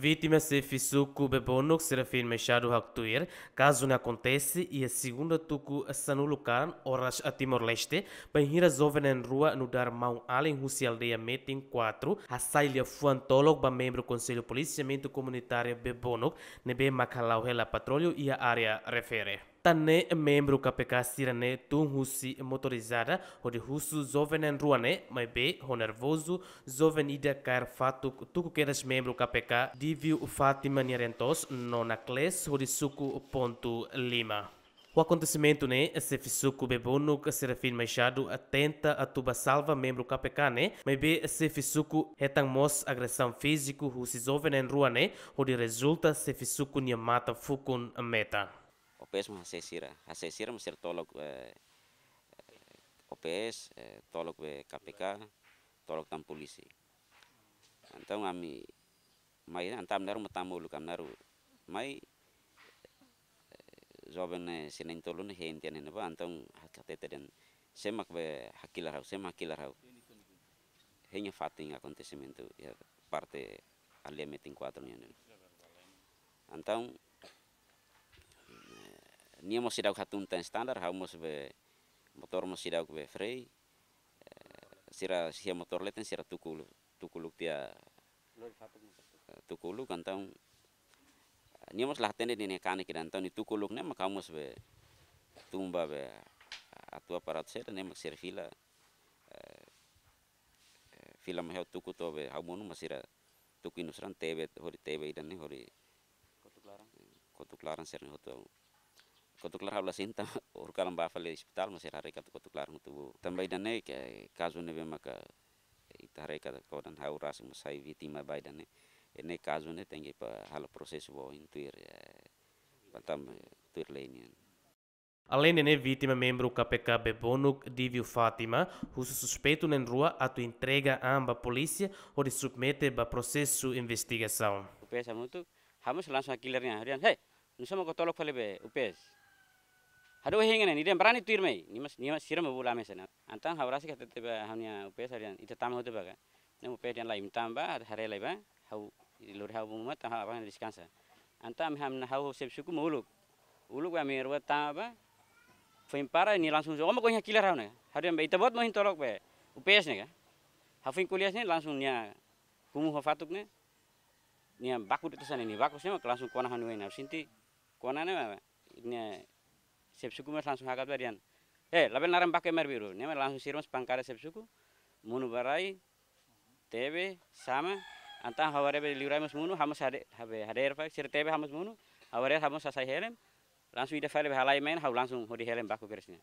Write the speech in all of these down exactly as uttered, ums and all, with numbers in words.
Vítima, xefe suku Bebonuk, Serafim Machado haktuir, kazu ne'e akontese iha segunda tuku sanulu kalan oras Timor-Leste, bainhira joven na'in-rua nu'udar maun-alin husi aldeia Metin kuatru hasai liafuan tolok ba membru Konsellu Polisiamentu Komunitáriu Bebonuk ne'ebé mak hala'o hela patrullu iha área refere. Tan ne'e membru K P K sira-ne'e tun husi motorizada hodi husu joven na'in-rua ne'e, maibé ho nervozu, joven ida kaer fatuk tuku kedas membru K P K Divio Fátima nia reen-toos no naklees hodi suku pontu lima. Ho akontesimentu ne'e, xefe suku Bebonuk, Serafim Machado, tenta atu bá salva membru K P K ne'e, maibé xefe suku hetan mós agresaun fíziku husi joven na'in-rua ne'e, hodi rezulta xefe suku nia matan fukun metan. O P S mak hase'e sira, hase'e sira mak sira tolok, eh, O P S, eh, tolok be K P K, tolok tan polísia. Entaun ami mai, entaun ami na'in-rua mak tama uluk, ami na'in-rua mai, eh, joven ne'e, sira na'in-tolu ne'e hein tiha ne'ebá, entaun hatete dehan: "Sé mak be hakilar ha'u, sé mak hakilar ha'u?" Hein nia fatin akontesimentu iha parte aldeia Metin kuatru nian. Entaun, eh, nia mós seidauk hatún tan standar, ha'u mós be motór mós seidauk be frei, eh, sira siha motór leten, sira tuku uluk, tuku uluk tiha, eh, tuku uluk, entaun, eh, nia mós la hatene dehan nia kanek ida, entaun nia tuku uluk ne'e mak ha'u mós be tun bá be atu aparatu seda, ne'e mak sira fila, eh, eh, fila mai ha'u tuku to'o be ha'u monu, mak sira tuku inus raan, tebe, hodi tebe ida-ne'e, hodi kotuk laran. Kotuk laran sira-ne'e hotu. Kotuk laran ha'u la sente, tanba horikalan bá fali ospitál, mak sira haree katak kotuk laran hotu boot. Tanba ida-ne'e ke kazu ne'ebé maka ita haree katak kodan, ha'u rasik mós sai vítima ba ida-ne'e. Ne'e kazu ne'e tenke ba halo prosesu ba oin tuir, eh, ba tan, eh, tuir lei nian. Aleinde ne'e, vítima membru K P K Bebonuk, Divio Fátima, husu suspeitu na'in-rua atu entrega an ba polísia hodi submete ba prosesu investigasaun. O P S hamutuk, ha'u mós langsung hakilar nia, dehan: "Hei, nusá mak ó tolok fali be O P S? Hadook hein ne'e, nia dehan barani tuir mai, nia mós, nia mós sira mak bolu ami hanesan ne'e." Entaun ha'u rasik hatete ba ha'u-nia O P S, dehan: "Ita tama hotu bá ka?" Ne'e O P S dehan: "Lae, imi tama bá, haree lai bá, ha'u, lori ha'u ba uma, tan ha'u bá deskansa." Entaun ami ham na ha'u xefe suku mak uluk. Uluk ami rua tama bá, foin para nia langsung: "Ó mak ohin hakilar ha'u ne'e?" Ha'u dehan: "Be ita-boot mak ohin tolok be O P S ne'e ka?" Ha'u foin ko'alia hanesan ne'e, langsung nia kumu ho fatuk ne'e, nia baku de'it hanesan ne'e, nia baku hanesan ne'e mak langsung kona ha'u-nia oin, ha'u sente kona ne'e, nia xefe suku mós langsung hakat bá, dehan: "Eh, labele naran baku ema arbiru." Ne'e mak langsung sira mós pankada xefe suku, monu ba rai, tebe, sama, entaun ha'u haree be liurai mós monu, ha'u mós hade-, habe hadeer fali, sira tebe, ha'u mós monu, ha'u haree, ha'u mós hasai helm, langsung ida fali be halai mai, ha'u langsung hodi helm baku kedas nia.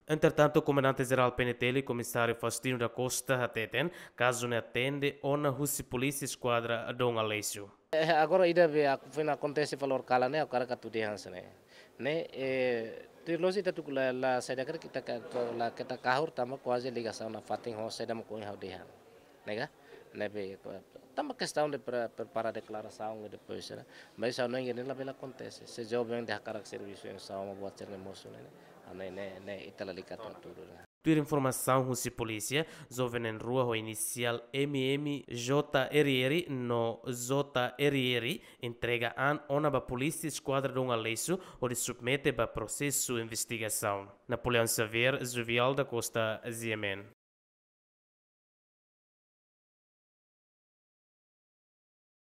Entretantu, Komandante Jerál P N T L, Komisáriu Faustino da Costa, hateten, kazu ne'e atende ona husi Polísia Eskuadra Dom Aleixo. Eh, agora ida be ak-, foin akontese valór kalan ne'e, agora ka tude hanesan ne'e. Ne'e, eh, tuir loos ita tuku la, la saida karik ita ka, ka, la keta kahur tanba kuaze ligasaun nafatin ho saida mak ohin ha'u dehan. Ne'e ka? Ne'ebé, tanba kestaun de pre-, prepara deklarasaun i depois, ne'e. Mas ha'u hanoin ne'e labele akontese. Se joven ida hakarak servisu oinsá mak buat sira-ne'e mosu ne'e, ne'e, ne'e, ne'e ita lalika tan tudu, ne'e. Tuir informasaun husi polísia, joven na'in-rua ho inisiál M M, J R R no J R R entrega an ona ba Polísia Eskuadra Dom Aleixo hodi submete ba prosesu investigasaun. Napoleão Xavier, Juvial da Costa, G M N.